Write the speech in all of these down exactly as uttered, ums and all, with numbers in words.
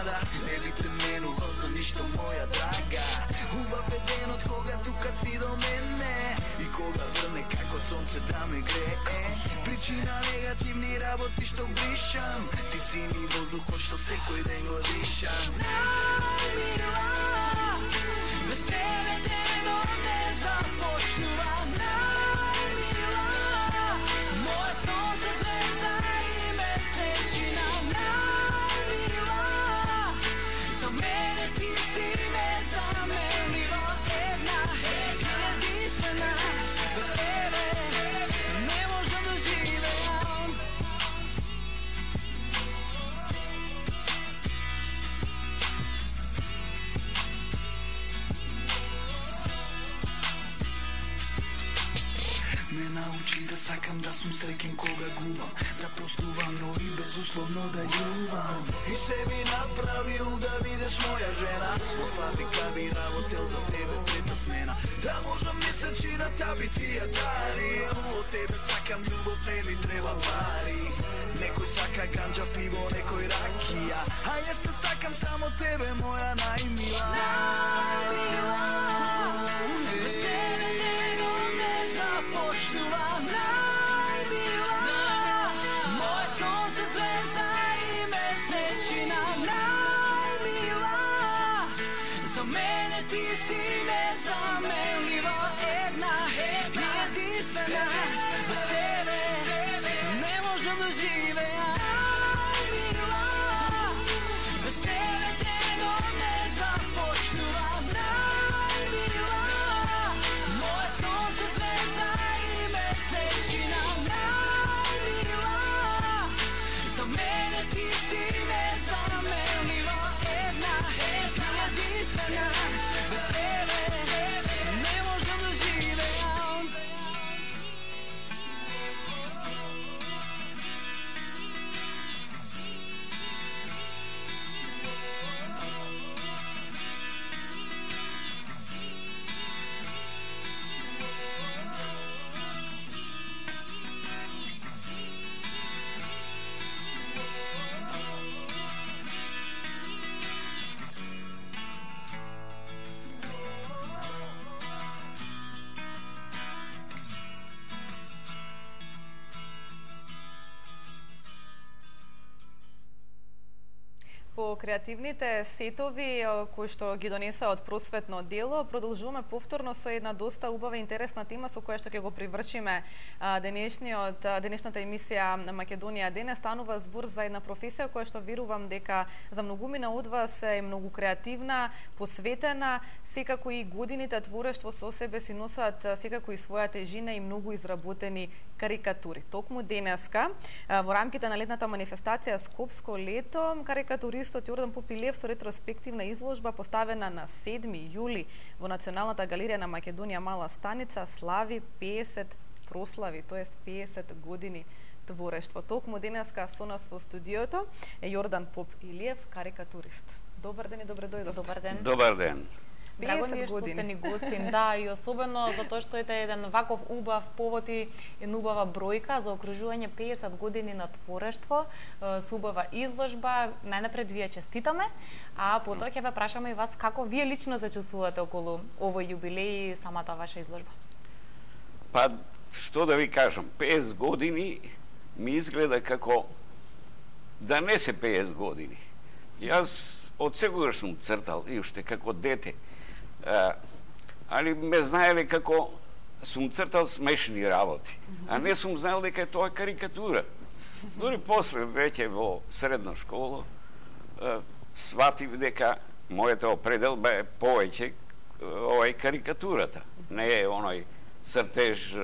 сада, не би те менувал за ништо моја драга. Убав е денот кога тука си до мене и кога врне како сонце да ме грее. Причина негативни работи што бришам, ти си ми воздухот што секој ден го дишам. Најмила, без тебе денот не започнува. Најмила, моја сонце, звезда и месечина. Најмила, за мене ти си незаменлива, една, единствена. Без тебе не можам да живеам. Ме научи да сакам да сум среќен кога губам, да простувам, но и безусловно да љубам. И се би направил да видиш моја жена, во фабрика би работел за тебе трета смена. Да можам месечината би ти ја дарил, од тебе сакам љубов, не ми треба пари. Некој сака ганџа, пиво, некој ракија, а јас те сакам само тебе, моја најмила. Најмила, без тебе денот не започнува. Најмила, моја сонце, звезда и месечина. Најмила, за мене ти си незаменлива, една, единствена. Без тебе не можам да живеам. Најмила, без тебе денот не започнува. Најмила, моја сонце, звезда и месечина. Најмила, за мене ти си незаменлива, една, единствена. Без тебе не можам да живеам. По креативните сетови кои што ги донеса од просветно дело, продолжуваме повторно со една доста убава и интересна тема со која што ќе го привршиме денешниот денешната емисија на Македонија денес. Станува збор за една професија која што верувам дека за многумина од вас е многу креативна, посветена, секако и годините творештво со себе си носат секако и своја тежина и многу изработени карикатури. Токму денеска во рамките на летната манифестација Скопско лето, карикатуристот Јордан Попилиев со ретроспективна изложба поставена на седми јули во Националната галерија на Македонија Мала Станица слави пеесет прослави, тоест пеесет години творештво. Токму денеска со нас во студиото е Јордан Попилиев, карикатурист. Добар ден и добре дојдовте. Добар ден. Добар ден. Драго ми е што сте ни гостин, да, и особено затоа што е еден ваков убав повод и една убава бројка за окружување пеесет години на творештво, со убава изложба. Најнапред вие честитаме, а потоа ќе ве прашаме и вас како вие лично се чувствувате околу овој јубилеј и самата ваша изложба. Па, што да ви кажам, пеесет години ми изгледа како да не се пеесет години. Јас од секогаш сум цртал и уште како дете. А, али ме знаеле како сум цртал смешни работи, а не сум знаел дека е тоа карикатура. Дори после, веќе во средна школа, а, сватив дека мојата определба е повеќе ова е карикатурата, не е оној цртеж,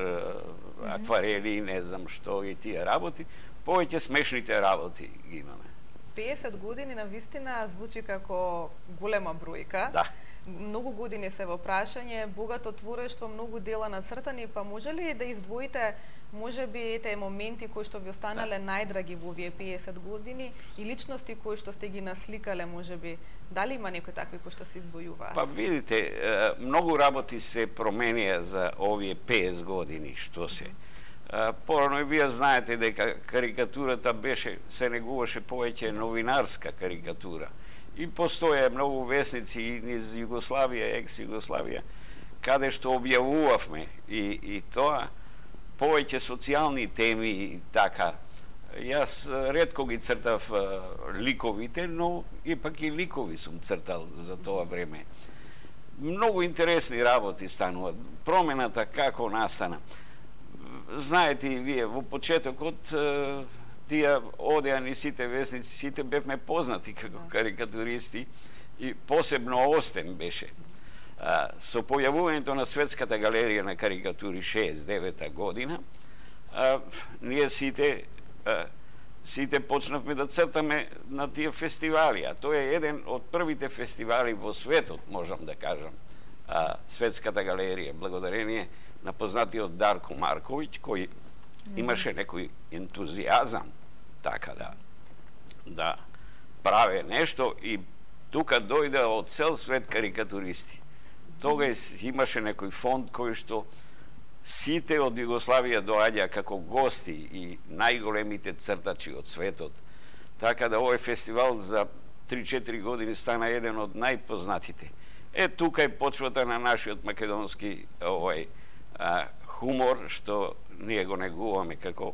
акварели, не знам што и тие работи, повеќе смешните работи ги имаме. пеесет години на вистина звучи како голема бројка. Да. Многу години се во прашање, богато творештво, многу дела нацртани, па може ли да издвоите можеби ете моменти кои што ви останале да. најдраги во овие пеесет години и личности кои што сте ги насликале можеби? Дали има некои такви кои што се извојуваат? Па видите, многу работи се променија за овие пеесет години што се. Порано и вие знаете дека карикатурата беше, се негуваше повеќе новинарска карикатура. и постоje многу весници низ Југославија, екс-Југославија, каде што објавувавме и, и тоа повеќе социјални теми и така. Јас ретко ги цртав ликовите, но ипак и ликови сум цртал за тоа време. Многу интересни работи стануваат. Промената како настана. Знаете и вие, во почетокот тие одеа ни сите весници, сите бевме познати како карикатуристи и посебно Остен беше. Со појавувањето на Светската галерија на карикатури шеесет и девета година, ние сите сите почнавме да цртаме на тие фестивали, а тоа е еден од првите фестивали во светот, можам да кажам, Светската галерија, благодарение на познатиот Дарко Марковиќ, кој имаше некој ентузијазам така да да праве нешто и тука дојде од цел свет карикатуристи. Тогаш имаше некој фонд кој што сите од Југославија доаѓа како гости и најголемите цртачи од светот. Така да овој фестивал за три-четири години стана еден од најпознатите. Е, тука е почвата на нашиот македонски овој а, хумор, што ние го негуваме како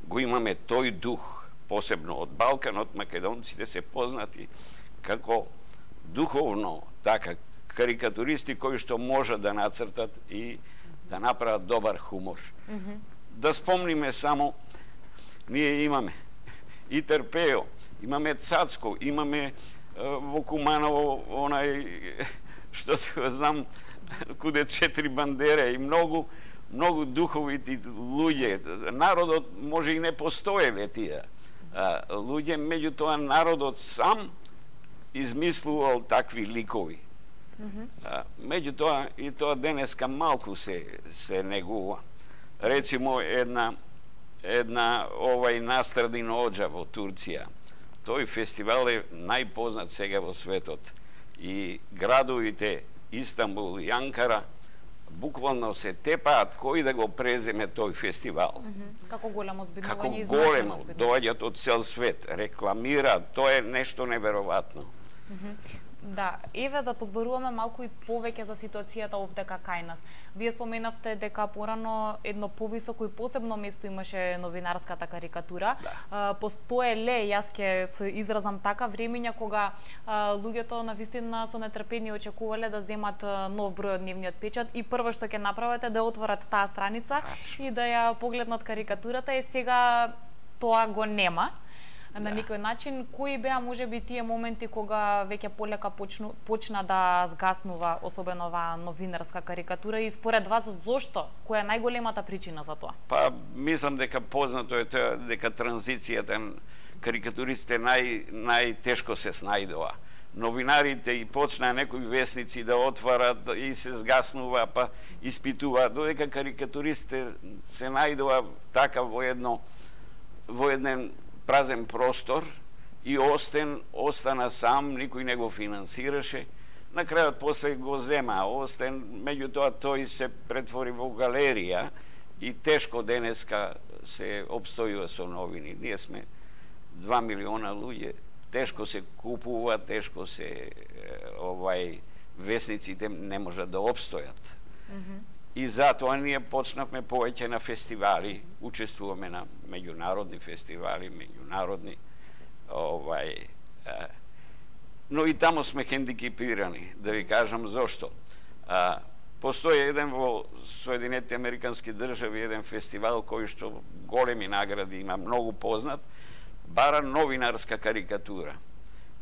го имаме тој дух, посебно од Балканот, македонците се познати како духовно така карикатуристи кои што можат да нацртат и да направат добар хумор. Mm-hmm. Да спомниме само, ние имаме и Терпео, имаме Цацко, имаме е, во Куманово онај што се го знам куде четири бандера и многу многу духовити луѓе. Народот може и не постоеле тие а, луѓе, меѓутоа народот сам измислувал такви ликови. Mm-hmm. Меѓутоа и тоа денеска малку се се негува. Рецимо една една овај Настрадин Оџа во Турција. Тој фестивал е најпознат сега во светот и градовите Истанбул и Анкара буквално се тепаат кој да го преземе тој фестивал. Mm-hmm. Како големо збинување Како и големо, значено доаѓаат од цел свет, рекламираат, тоа е нешто неверојатно. Mm-hmm. Да, еве да позборуваме малку и повеќе за ситуацијата овдека кај нас. Вие споменавте дека порано едно повисоко и посебно место имаше новинарската карикатура. Да. Постоеле, јас ќе се изразам така, времења кога а, луѓето навистина со нетрпение очекувале да земат нов број од дневниот печат и прво што ќе направат е да отворат таа страница Ачу. и да ја погледнат карикатурата и сега тоа го нема. На некој начин, кои беа можеби тие моменти кога веќе полека почну, почна да згаснува особено оваа новинарска карикатура и според вас зошто? Која е најголемата причина за тоа? Па мислам дека познато е тоа дека транзицијата карикатуристите нај најтешко се снајдоа. Новинарите и почнаа некои весници да отварат и се згаснува, па испитуваат, додека карикатуристите се најдоа така во едно во еден празен простор и Остен остана сам, никој не го финансираше. На крајот после го зема Остен, меѓутоа тој се претвори во галерија и тешко денеска се обстојува со новини. Ние сме два милиона луѓе, тешко се купува, тешко се овај весниците не можат да обстојат. Mm-hmm. И затоа ние почнавме повеќе на фестивали, учествуваме на меѓународни фестивали, меѓународни овај е, но и таму сме хендикепирани, да ви кажам зошто. А, постои еден во Соединетите Американски држави еден фестивал кој што големи награди има, многу познат, бара новинарска карикатура.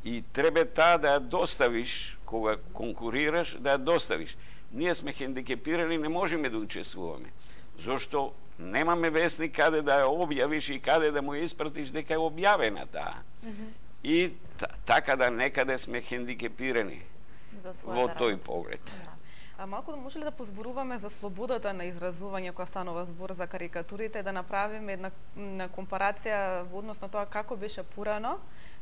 И треба таа да ја доставиш кога конкурираш, да ја доставиш. Ние сме хендикепирани, не можеме да учествуваме. Зошто немаме вестник каде да ја објавиш и каде да му ја испратиш дека е објавена таа. Mm-hmm. И така да некаде сме хендикепирани во тој поглед. Да. А малку да може ли да позборуваме за слободата на изразување која станува збор за карикатурите, да направиме една, една компарација во однос на тоа како беше порано,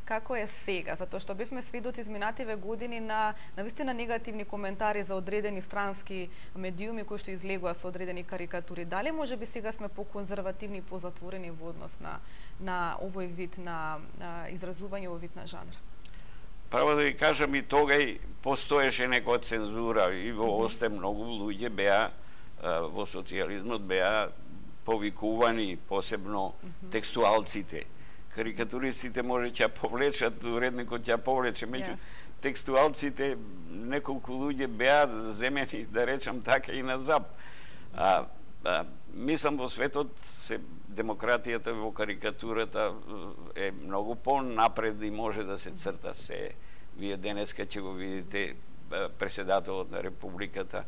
како е сега, затоа што бевме свидоци изминативе години на навистина негативни коментари за одредени странски медиуми кои што излегува со одредени карикатури. Дали можеби сега сме поконзервативни и позатворени во однос на на овој вид на, на изразување, овој вид на жанр? право да ви кажам, и тогај постоеше некоја цензура и во Осте многу луѓе беа во социјализмот беа повикувани, посебно текстуалците. Карикатуристите може ќе повлечат, уредникот ќе повлече, меѓу yes. текстуалците неколку луѓе беа земени, да речам така, и на зап. А, а, мислам во светот се демократијата во карикатурата е многу по-напред и може да се црта се. Вие денеска ќе го видите преседателот на Републиката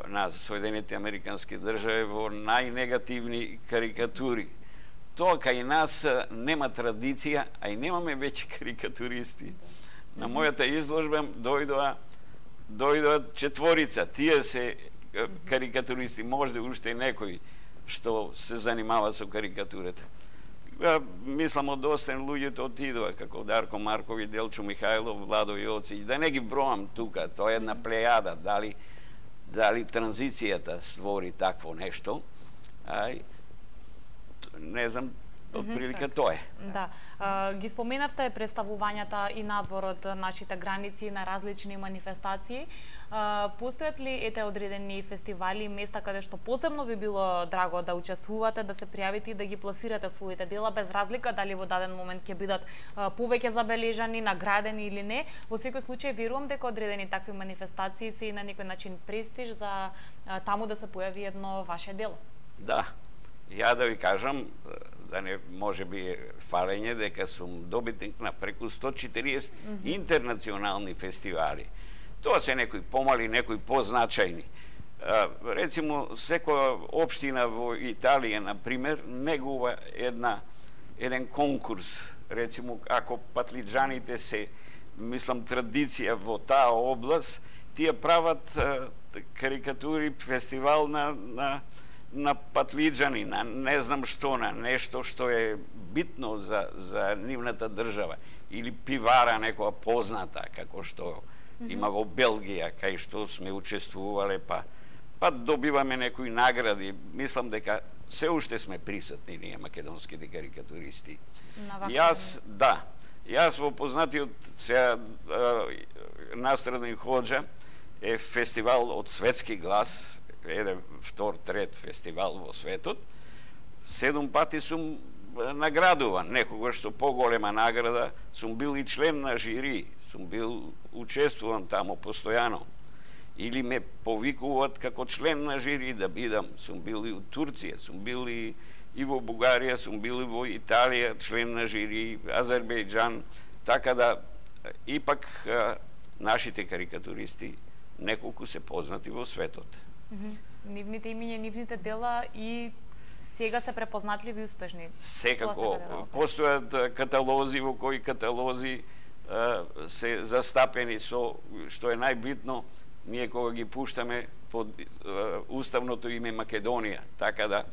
на Соединените Американски држави во најнегативни карикатури. Тоа кај нас нема традиција, а и немаме веќе карикатуристи. На мојата изложба дојдоа дојдоа четворица. Тие се карикатуристи, може да уште некој што се занимава со карикатурата. Мислам, од Остен луѓето отидоа, како Дарко Маркови, Делчо Михајлов, Владо Јоци, да не ги броам тука, тоа е една плејада, дали дали транзицијата створи такво нешто, а, не знам, отприлика mm-hmm, тоа е. Да. А, ги споменавте представувањата и надвор од нашите граници на различни манифестации. А, постојат ли ете одредени фестивали и места каде што посебно ви било драго да учествувате, да се пријавите и да ги пласирате своите дела, без разлика дали во даден момент ќе бидат а, повеќе забележани, наградени или не? Во секој случај верувам дека одредени такви манифестации се и на некој начин престиж за а, таму да се појави едно ваше дело. Да. Ја да ви кажам, да не може би фалење, дека сум добитник на преку сто четириесет mm-hmm. интернационални фестивали. Тоа се некои помали, некои позначајни. Рецимо, секоја општина во Италија, например, негува една, еден конкурс. Рецимо, ако патлиџаните се, мислам, традиција во таа област, тие прават карикатури, фестивал на, на на патлиџани, на не знам што, на нешто што е битно за, за нивната држава. Или пивара некоја позната, како што mm-hmm. има во Белгија, кај што сме учествувале, па, па добиваме некои награди. Мислам дека се уште сме присутни ние, македонските карикатуристи. Јас, да, јас во познатиот сега настраден хоџа е фестивал од Светски глас, еден, втор, трет фестивал во светот. Седум пати сум наградуван, некогаш со поголема награда, сум бил и член на жири, сум бил учествуван тамо постојано. Или ме повикуваат како член на жири да бидам. Сум бил и у Турција, сум бил и, и во Бугарија, сум бил и во Италија, член на жири, Азербејџан, така да ипак нашите карикатуристи неколку се познати во светот. Mm-hmm. Нивните имиња, нивните дела и сега се препознатливи и успешни. Секако, постојат каталози во кои каталози а, се застапени со, што е најбитно, ние кога ги пуштаме под а, уставното име Македонија, така да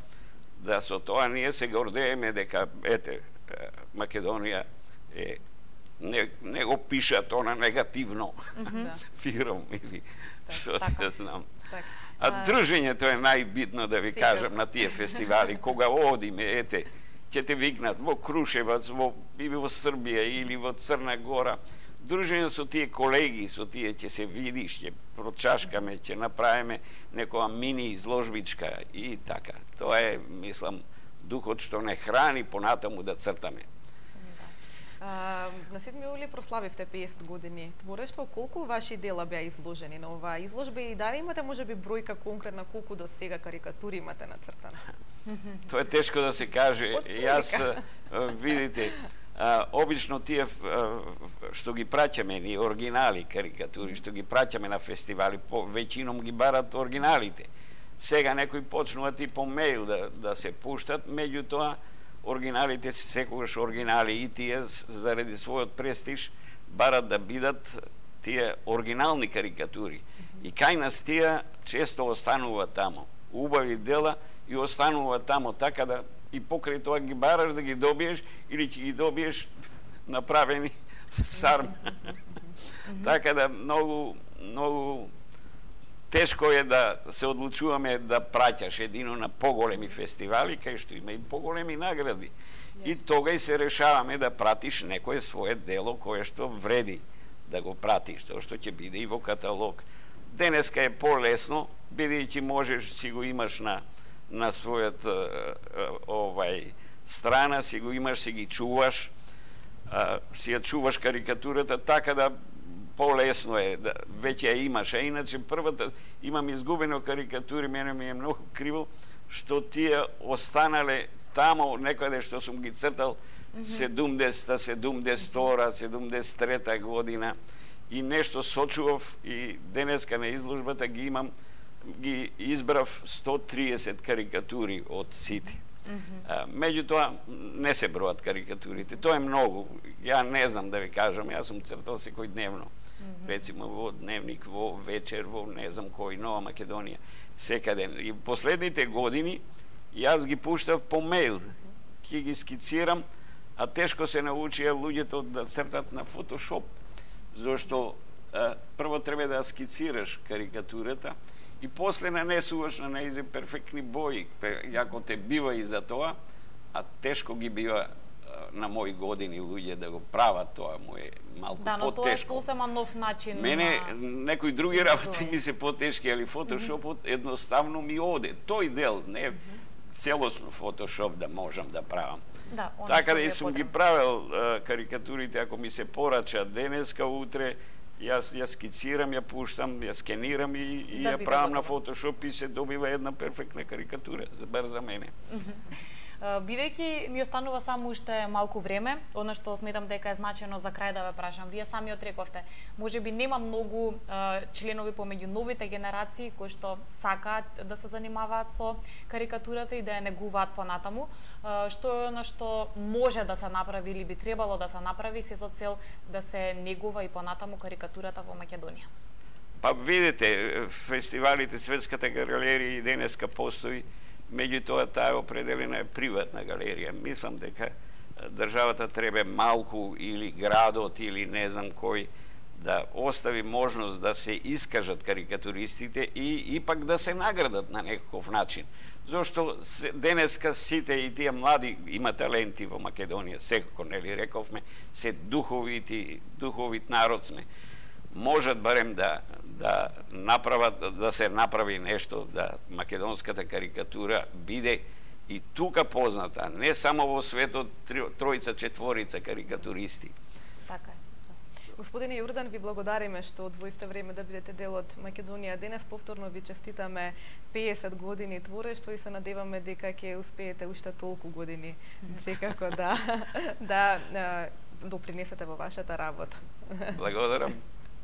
да со тоа ние се гордееме дека ете Македонија е не, не го пишат она негативно mm-hmm. фиром или што ти да знам. Так. А дружењето е најбитно, да ви Сигурно. кажам, на тие фестивали. Кога одиме, ете, ќе те викнат во Крушевац, во, или во Србија, или во Црна Гора. Дружење со тие колеги, со тие ќе се видиш, ќе прочашкаме, ќе направиме некоја мини изложбичка и така. Тоа е, мислам, духот што не храни понатаму да цртаме. А, на седми јули прославивте песет години творештво. Колку ваши дела беа изложени на оваа изложба и дали имате можеби бројка конкретна колку до сега карикатури имате нацртано? Тоа е тешко да се каже. Јас, видите, а, обично тие а, што ги праќаме ни оригинали карикатури, што ги праќаме на фестивали, по веќином ги барат оригиналите. Сега некои почнуваат и по мејл да, да се пуштат, меѓутоа оригиналите се секогаш оригинали и тие заради својот престиж барат да бидат тие оригинални карикатури. Mm-hmm. И кај нас тие често останува тамо. Убави дела и останува тамо, така да и покрај тоа ги бараш да ги добиеш или ќе ги добиеш направени сарм. Mm-hmm. Така да многу многу тешко е да се одлучуваме да праќаш едино на поголеми фестивали, кај што има и поголеми награди. Yes. И тога и се решаваме да пратиш некое свое дело кое што вреди да го пратиш, тоа што ќе биде и во каталог. Денеска е полесно, бидејќи можеш, си го имаш на на својот овај страна, си го имаш, си ги чуваш, а, си ја чуваш карикатурата, така да полесно е, да, веќе ја имаш. А иначе првата, имам изгубено карикатури, мене ми е многу криво, што тие останале тамо, некаде што сум ги цртал седумдесета, седумдесет и втора, седумдесет и трета година, и нешто сочував, и денеска на изложбата ги имам, ги избрав сто триесет карикатури од сите. Mm-hmm. Меѓутоа, не се бројат карикатурите. Тоа е многу. Ја не знам да ви кажам, јас сум цртал секој дневно. Mm-hmm. Рецимо во Дневник, во Вечер, во не знам кој, Нова Македонија, секаде. И последните години јас ги пуштав по мејл. Ќе ги скицирам, а тешко се научија луѓето да цртат на фотошоп, зашто а, прво треба да скицираш карикатурата, и после нанесуваш на нејзе перфектни бои, јако те бива и за тоа, а тешко ги бива на мои години луѓе да го прават тоа, му е малку да, потешко. Да, но тоа е сосема нов начин. Мене на... некои други работи ми се потешки, али фотошопот mm-hmm. едноставно ми оде. Тој дел, не целосно фотошоп да можам да правам. Да, така да и сум ги правил а, карикатурите, ако ми се порача денеска, утре, Јас ја скицирам, ја пуштам, ја скенирам и, и да ја правам на фотошоп и се добива една перфектна карикатура, бар за мене. Бидејќи ни останува само уште малку време, одно што сметам дека е значено за крај да ве прашам. Вие самиот рековте, можеби нема многу е, членови помеѓу новите генерации кои што сакаат да се занимаваат со карикатурата и да ја негуваат понатаму. Е, што е оно што може да се направи или би требало да се направи се со цел да се негува и понатаму карикатурата во Македонија? Па видите, фестивалите, Светската галерија и денеска постои, меѓутоа таа определена е приватна галерија. Мислам дека државата треба малку или градот или не знам кој да остави можност да се искажат карикатуристите и ипак да се наградат на некаков начин. Зошто денеска сите и тие млади има таленти во Македонија, секако, нели рековме, се духовити, духовит народ сме. Можат барем да да направат, да се направи нешто, да македонската карикатура биде и тука позната, не само во светот тројца, четворица карикатуристи. Така е. Господине Јордан, ви благодариме што одвоивте време да бидете дел од Македонија денес. Повторно ви честитаме пеесет години творештво и се надеваме дека ќе успеете уште толку години секако да да допринесете во вашата работа. Благодарам.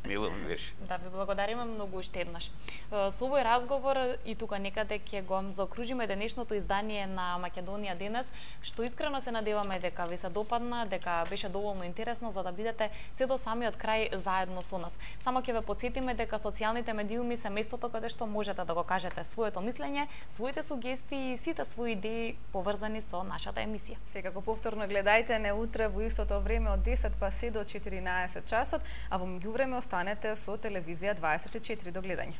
Мило ми беше. Да, ви благодариме многу уште еднаш. Со овој разговор и тука некаде ќе го заокружиме денешното издание на Македонија денес, што искрено се надеваме дека ви се допадна, дека беше доволно интересно за да бидете се до самиот крај заедно со нас. Само ќе ве потсетиме дека социјалните медиуми се местото каде што можете да го кажете своето мислење, своите сугестии и сите свои идеи поврзани со нашата емисија. Секако повторно гледајте не утре во истото време од десет па се до четиринаесет часот, а во меѓувреме останете со телевизија дваесет и четири. До гледање.